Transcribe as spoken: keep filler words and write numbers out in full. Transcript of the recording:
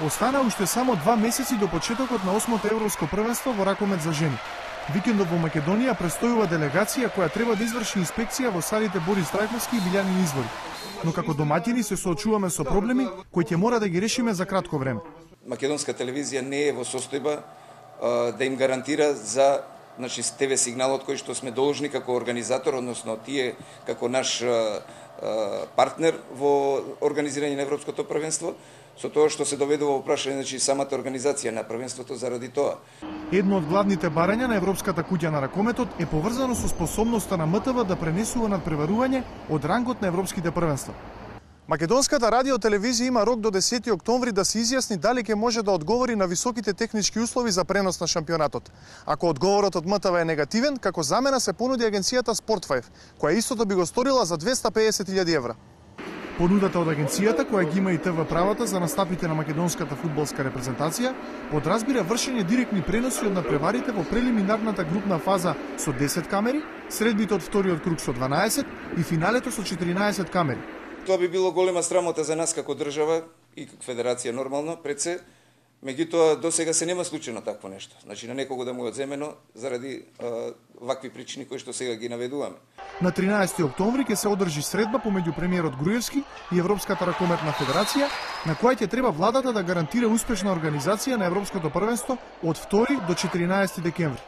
Остана уште само два месеци до почетокот на осмото европско првенство во ракомет за жени. Викендот во Македонија престојува делегација која треба да изврши инспекција во салите Борис Трајковски и Билјанин извори. Но како домаќини се соочуваме со проблеми кои ќе мора да ги решиме за кратко време. Македонска телевизија не е во состојба а, да им гарантира за значи Те Ве сигналот кој што сме должни како организатор, односно тие како наш а, а, партнер во организирање на европското првенство, со тоа што се доведува во прашање значи самата организација на првенството заради тоа. Едно од главните барања на Европската куќа на ракометот е поврзано со способноста на М Т В да пренесува надпреварување од рангот на европските првенства. Македонската радиотелевизија има рок до десети октомври да се изјасни дали ќе може да одговори на високите технички услови за пренос на шампионатот. Ако одговорот од М Т В е негативен, како замена се понуди агенцијата Спортфајв, која истото би го сторила за двесте педесет илјади евра. Понудата од агенцијата, која ги има и Т В правата за настапите на македонската фудбалска репрезентација, подразбира вршење директни преноси од надпреварите во прелиминарната групна фаза со десет камери, средбите од вториот круг со дванаесет и финалето со четиринаесет камери. Тоа би било голема срамота за нас како држава и федерација нормално, пред се, меѓутоа до сега се нема случајно такво нешто. Значи на некого да му е одземено заради а, вакви причини кои што сега ги наведуваме. На тринаесети октомври ќе се одржи средба помеѓу премиерот Груевски и Европската ракометна федерација, на која ќе треба владата да гарантира успешна организација на европското првенство од втори до четиринаесети декември.